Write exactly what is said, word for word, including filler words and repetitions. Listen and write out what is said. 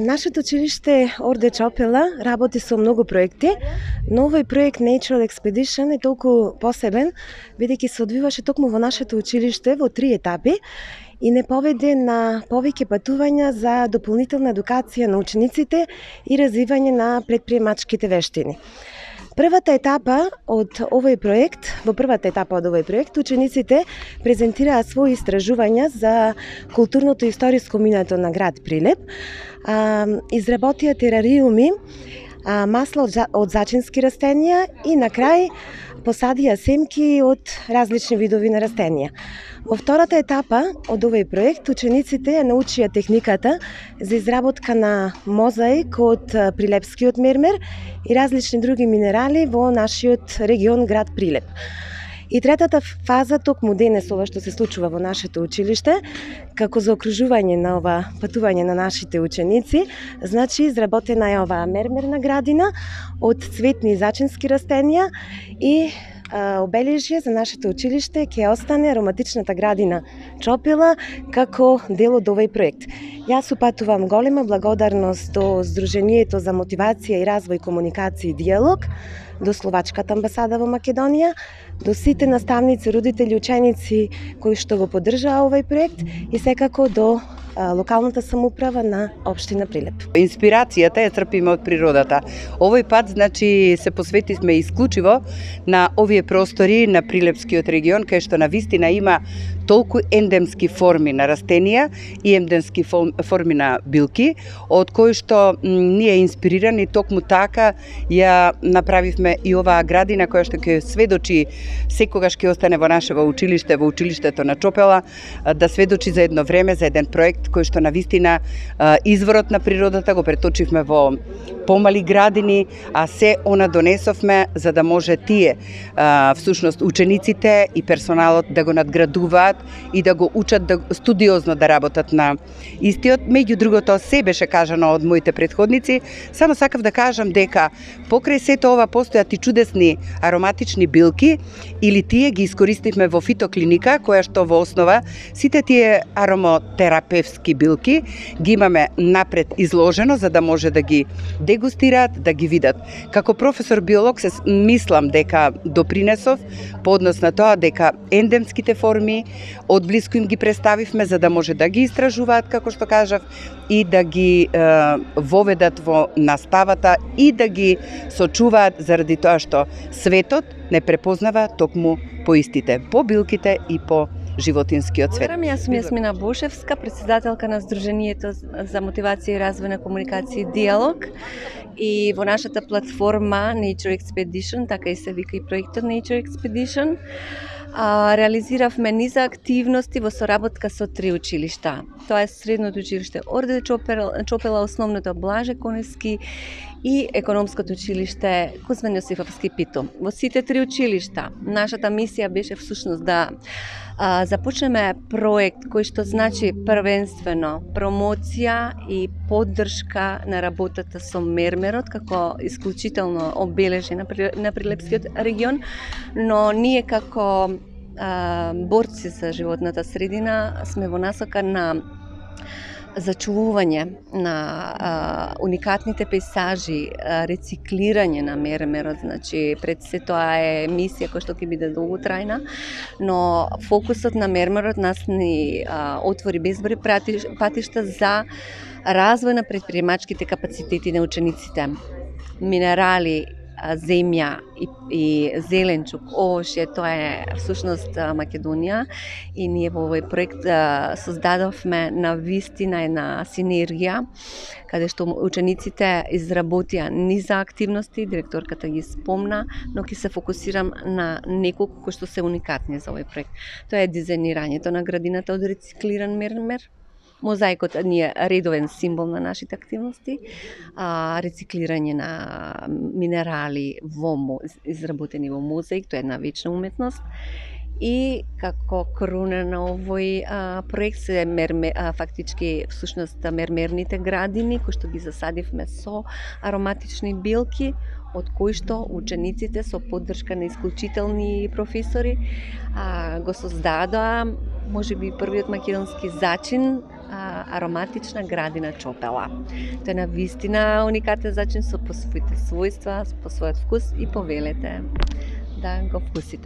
Нашето училиште Орде Чопела работи со многу проекти, но овој проект Natural Expedition е толку посебен, бидејќи се одвиваше токму во нашето училиште во три етапи и не поведе на повеќе патувања за дополнителна едукација на учениците и развивање на предприемачките вештини. Првата етапа од овој проект, во првата етапа од овој проект, учениците презентираа своји истражувања за културното и историско минато на град Прилеп, а, изработија терариуми, а, масла од, од зачински растенија и на крај посадија семки од различни видови на растенија. Во втората етапа од овој проект, учениците ја научија техниката за изработка на мозаик од прилепскиот мермер и различни други минерали во нашиот регион град Прилеп. И третата фаза, токму денес ова што се случува во нашето училиште, како заокружување на ова патување на нашите ученици, значи изработена е оваа мермерна градина од цветни и зачински растенија и обележје за нашето училиште ќе остане ароматичната градина Чопела како дел од овој проект. Јас упатувам голема благодарност до Сдруженијето за мотивација и развој, комуникација и диалог, до Словачката амбасада во Македонија, до сите наставници, родители, ученици кои што го поддржаа овој проект и секако до локалната самоуправа на општина Прилеп. Инспирацијата ја црпиме од природата. Овој пат, значи, се посветивме исклучиво на овие простори на Прилепскиот регион, кај што на вистина има толку ендемски форми на растенија и ендемски форми на билки, од кои што ние инспирирани токму така ја направивме и оваа градина која што ќе сведочи, секогаш ќе остане во нашево училиште, во училиштето на Чопела, да сведочи за едно време, за еден проект кој што на вистина изворот на природата го преточивме во помали градини, а се она донесовме за да може тие, всушност учениците и персоналот да го надградуваат и да го учат да студиозно да работат на истиот. Меѓу другото, се беше кажано од моите претходници, само сакав да кажам дека покрај сето ова постојат и чудесни ароматични билки, или тие ги искористивме во фитоклиника, која што во основа сите тие аромотерапевски билки ги имаме напред изложено за да може да ги дегустираат, да ги видат. Како професор биолог се мислам дека допринесов по однос на тоа дека ендемските форми од блиску им ги представивме за да може да ги истражуваат, како што кажав, и да ги е, воведат во наставата и да ги сочуваат заради тоа што светот не препознава токму по истите, по билките и по животинскиот свет. Јас сум Јасмина Бошевска, председателка на Сдруженијето за мотивација и развој на комуникација и диалог. И во нашата платформа Nature Expedition, така и се вика и проектот Nature Expedition, а, реализиравме низа активности во соработка со три училишта. Тоа е средното училиште Орде Чопела, Чопела, основното Блаже Конески и економското училиште Кузман Јосифовски Пито. Во сите три училишта нашата мисија беше всушност да а, започнеме проект кој што значи првенствено промоција и поддршка на работата со мермерот како исклучително обележје на, на Прилепскиот регион, но ние како а, борци за животната средина сме во насока на зачувување на а, уникатните пейсажи, а, рециклирање на мермерот, значи пред се тоа е мисија која што ќе биде долготрајна, но фокусот на мермерот нас ни а, отвори безброј патишта за развој на предприемачките капацитети на учениците. Минерали, земја и, и зеленчук, овошје, тоа е всушност Македонија и ние во овој проект а, создадовме на вистина една синергија каде што учениците изработија низа активности, директорката ги спомна, но ќе се фокусирам на неколку кои што се уникатни за овој проект. Тоа е дизајнирањето на градината од рециклиран мермер. Мозаикот ни е редовен символ на нашите активности, а, рециклирање на минерали во изработени во мозаик, тоа е една вечна уметност. И како круна на овој а, проект се мерме, а, фактички всушност мермерните градини кои што ги засадивме со ароматични билки од кои што учениците со поддршка на исклучителни професори а, го создадоа можеби првиот македонски зачин а, ароматична градина чопела. Тоа е на вистина уникатен зачин со по своите својства, по својот вкус и повелете да го вкусите.